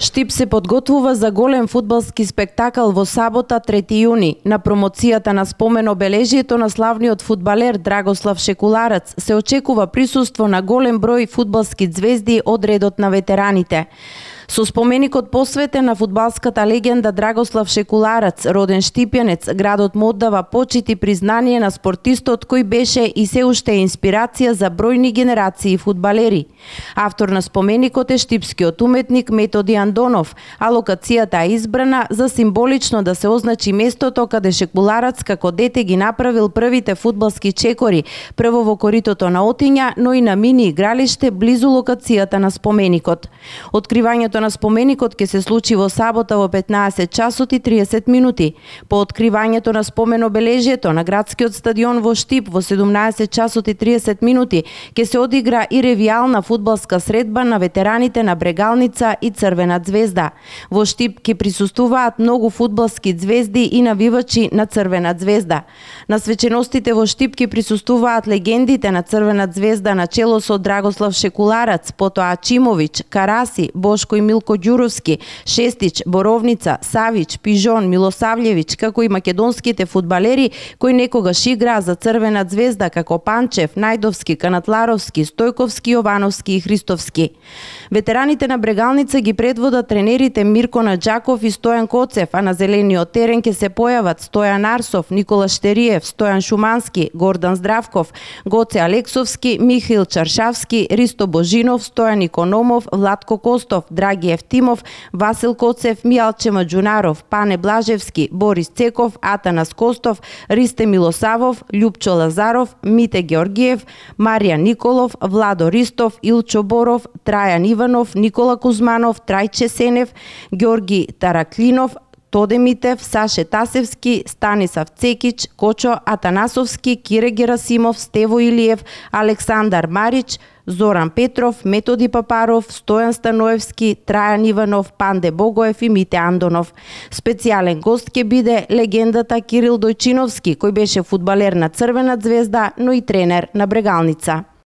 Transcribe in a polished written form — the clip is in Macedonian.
Штип се подготвува за голем фудбалски спектакл во сабота 3 јуни. На промоцијата на спомен обележието на славниот фудбалер Драгослав Шекуларац се очекува присуство на голем број фудбалски ѕвезди од редот на ветераните. Со споменикот посветен на фудбалската легенда Драгослав Шекуларац, роден штипјанец, градот му оддава почит и признание на спортистот кој беше и се уште е инспирација за бројни генерации фудбалери. Автор на споменикот е штипскиот уметник Методи Андонов, а локацијата е избрана за символично да се означи местото каде Шекуларац како дете ги направил првите фудбалски чекори, прво во коритото на Отиња, но и на мини игралиште близу локацијата на споменикот. Откривањето на споменикот ќе се случи во сабота во 15 часот и 30 минути. По откривањето на спомен обележието на градскиот стадион во Штип во 17 часот и 30 минути ќе се одигра и ревијална фудбалска средба на ветераните на Брегалница и Црвена ѕвезда. Во Штип ќе присуствуваат многу фудбалски ѕвезди и навивачи на Црвена ѕвезда. На свеченостите во Штип ќе присуствуваат легендите на Црвена ѕвезда на чело со Драгослав Шекуларац, потоа Ачимовиќ, Караси, Бошко и Милко Ѓуровски, Шестич, Боровница, Савич, Пижон, Милосављевиќ, како и македонските фудбалери кои некогаш играа за Црвена ѕвезда како Панчев, Најдовски, Канатларовски, Стојковски, Јовановски и Христовски. Ветераните на Брегалница ги предводат тренерите Мирко Наџаков и Стојан Коцев, а на зелениот терен ќе се појават Стојан Арсов, Никола Штериев, Стојан Шумански, Гордан Здравков, Гоце Алексовски, Михаил Чаршавски, Ристо Божинов, Стојан Икономов, Владко Костов, Драги Евтимов, Васил Коцев, Мијалче Маџунаров, Пане Блажевски, Борис Цеков, Атанас Костов, Ристе Милосавов, Љупчо Лазаров, Мите Георгиев, Марија Николов, Владо Ристов, Илчо Боров, Трајан Иванов, Никола Кузманов, Трајче Сенев, Георги Тараклинов, Тоде Митев, Саше Тасевски, Станислав Цекич, Кочо Атанасовски, Кире Герасимов, Стево Илиев, Александар Марич, Зоран Петров, Методи Папаров, Стојан Станоевски, Трајан Иванов, Панде Богоев и Мите Андонов. Специјален гост ќе биде легендата Кирил Дојчиновски, кој беше фудбалер на Црвена ѕвезда, но и тренер на Брегалница.